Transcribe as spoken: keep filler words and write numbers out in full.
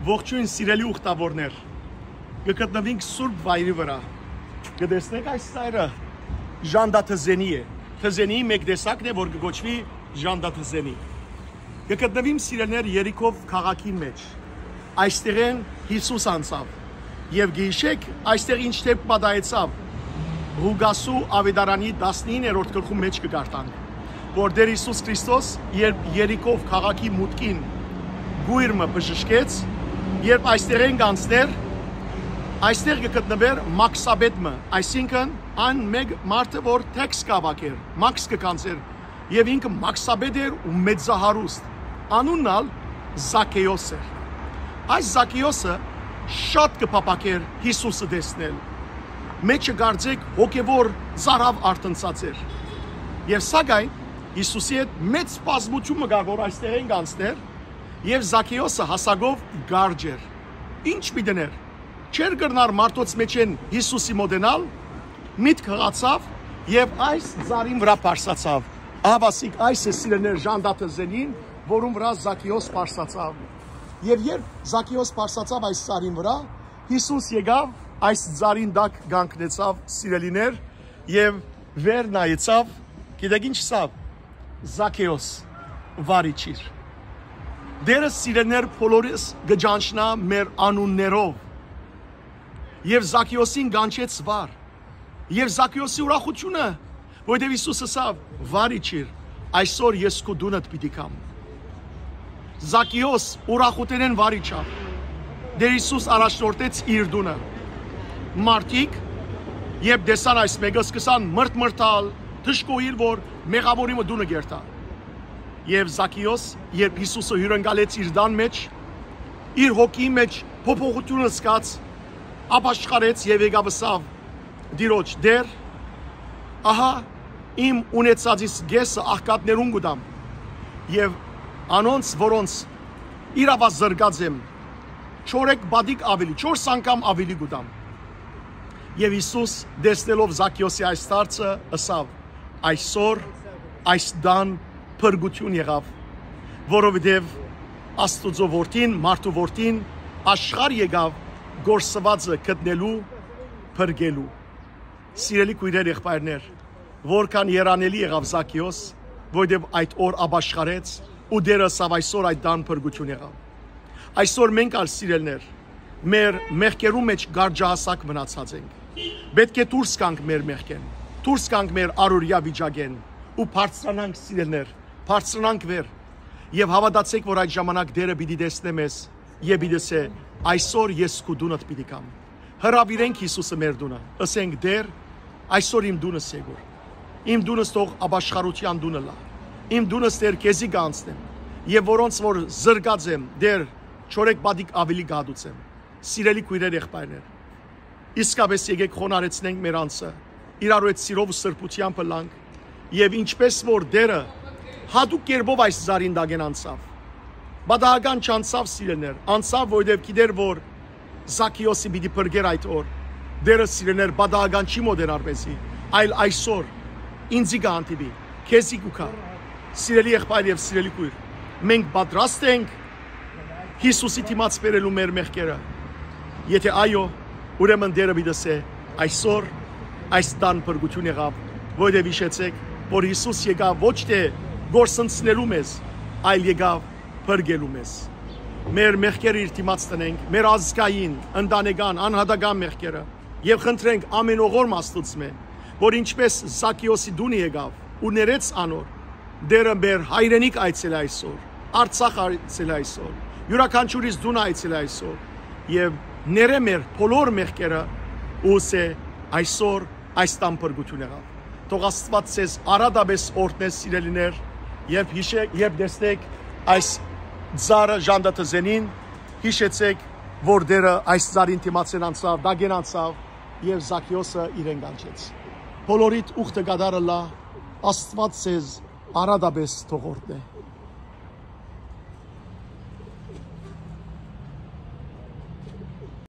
Ողջոյն, սիրելի ուխտաւորներ։ Կը գտնուինք սուրբ վայրի վրայ։ Կը տեսնէք այս ծայրը, ժանտա թզենի է։ Թզենիի մէկ տեսակն է, որ կը կոչուի ժանտա թզենի։ Կը գտնուիմ, սիրելիներ, Երիքով քաղաքին մէջ։ Այստեղէն Յիսուս անցաւ։ Եւ գիշեք, այստեղ ինչ դէպք պատահեցաւ, Ղուկասու աւետարանի տասնիններորդ գլխուն մէջ կը կարդանք, որ Տէր Յիսուս Քրիստոս, երբ Երիքով քաղաքի մուտքին կոյր մը բժշկեց, երբ այստեղէն կանցներ, այստեղ կը գտնուէր մաքսապետ մը, այսինքն, այն մէկ մարդը, որ թեքս կը հաւաքէր, մաքս կը գանձէր, եւ ինքը մաքսապետ էր ու մեծահարուստ, անունն ալ Զաքէոս էր։ Այս Զաքէոսը շատ կը փափաքէր Յիսուսը տեսնել։ Մէջը կարծէք հոգեվոր ծարաւ արթնցած էր։ Եւ սակայն Յիսուսի հետ մեծ բազմութիւն մը կար, որ այստեղէն կանցներ, եւ Զաքէոսը հասակով կարճ էր։ Ինչ պիտի ըրէր։ Չէր կրնար մարդոց մէջէն Յիսուսի մօտենալ, միտք յղացաւ եւ այս ծառին վրայ բարձրացաւ։ Ահավասիկ այս է, սիրելիներ, ժանտա թզենին, որուն վրայ Զաքէոս բարձրացաւ։ Եւ երբ Զաքէոս բարձրացաւ այս ծառին վրայ, Յիսուս եկաւ, այս ծառին տակ կանգնեցաւ, սիրելիներ, եւ վեր նայեցաւ, գիտեք ինչ ըսաւ. «Զաքէոս, վար իջիր»։ Տէրը, սիրելիներ, բոլորիս կը ճանչնայ մեր անուններով։ Եւ Զաքէոսին կանչեց վար։ Եւ Զաքէոսի ուրախութիւնը, որտեւ Յիսուս ըսաւ. «Վար իջիր, այսօր ես քու տունդ պիտի գամ»։ Զաքէոս ուրախութենէն վար իջաւ։ Տէր Յիսուս առաջնորդեց իր տունը։ Մարդիկ, երբ տեսան այս մէկը, սկսան մրթմրթալ, դժգոհիլ, որ մեղաւորի մը տունը կերթայ։ Եւ Զաքէոս, երբ Յիսուսը հիւրընկալեց իր տան մէջ, իր հոգիի մէջ փոփոխութիւն զգաց, ապաշխարեց եւ եկաւ ըսաւ Տիրոջ. «Տէր, ահա իմ ունեցածիս կէսը աղքատներուն կու տամ, եւ անոնց, որոնց իրաւա զրկած եմ, չորեկ պատիկ աւելի, չորս անգամ աւելի կու տամ»։ Եւ Յիսուս, տեսնելով Զաքէոսի այս դարձը, ըսաւ. «Այսօր այս տան փրկութիւն եղաւ, որովհետեւ Աստուծոյ որդին, մարդու որդին, աշխարհ եկաւ կորսուածը գտնելու, փրկելու»։ Սիրելի քոյրեր, եղբայրներ, որքան երանելի եղաւ Զաքէոս, որովհետեւ այդ օր ապաշխարեց ու Տէրը ըսաւ. «Այսօր այդ տան փրկութիւն եղաւ»։ Այսօր մենք ալ, սիրելիներ, մեր մեղքերու մէջ կարճահասակ մնացած ենք։ Պէտք է դուրս գանք մեր մեղքէն, դուրս գանք մեր առօրեայ վիճակէն ու բարձրանանք, սիրելիներ, բարձրանանք վեր։ Եւ հաւատացէք, որ այդ ժամանակ Տէրը պիտի տեսնէ մեզ եւ պիտի ըսէ. «Այսօր ես քու տունդ պիտի գամ»։ Հրաւիրենք Յիսուսը մեր տունը, ըսենք. «Տէր, այսօր իմ տունս եկուր։ Իմ տունս թող ապաշխարութեան տունը ըլլայ։ Իմ տունս, Տէր, քեզի կ'անցնեմ, եւ որոնց որ զրկած եմ, Տէր, չորեկ պատիկ աւելի կ'հատուցեմ»։ Սիրելի քոյրեր, եղբայրներ, իսկապէս եկէք խոնարհեցնենք մեր անձը, իրարու հետ սիրով ու սրբութեամբ ըլլանք, եւ ինչպէս որ Տէրը յատուկ կերպով այս ծառին տակէն անցաւ, պատահական չանցաւ, սիրելիներ, անցաւ, որովհետեւ գիտէր, որ Զաքէոսի պիտի փրկեր այդ օր։ Տէրը, սիրելիներ, պատահական չի մօտենար մեզի, այլ այսօր ինծի կը հանդիպի, քեզի կու գայ։ Սիրելի եղբայր եւ սիրելի քոյր, մենք պատրաստ ենք Յիսուսի դիմաց բերելու մեր մեղքերը։ Եթե այո, ուրեմն Տէրը պիտի ըսէ. «Այսօր այս տան փրկութիւն եղաւ», որովհետեւ յիշեցէք, որ Յիսուս եկաւ ոչ թէ կորսնցնելու մեզ, այլ եկաւ փրկելու մեզ։ Մեր մեղքերը իր դիմաց տնենք, մեր ազգային, ընտանեկան, անհատական մեղքերը, եւ խնդրենք ամենօղորմ Աստուծմէ, որ ինչպէս Զաքէոսի տունը եկաւ ու ներեց անոր, Տէրը մեր հայրենիք այցելէ այսօր, Արցախ այցելէ այսօր, իւրաքանչիւրիս տունը այցելէ այսօր, եւ ներէ մեր բոլոր մեղքերը ու ըսէ. «Այսօր այս տան փրկութիւն եղաւ»։ Թող Աստուած ձեզ արատապէս օրհնէ, սիրելիներ, երբ յիշեք, երբ տեսնեք այս ծառը, ժանտա թզենին, յիշեցեք, որ Տէրը այս ծառին դիմացէն անցաւ, տակէն անցաւ եւ Զաքէոսը իրեն կանչեց։ Բոլորիդ ուխտը կատարը լա, Աստուած ձեզ արատապէս թող օրհնէ։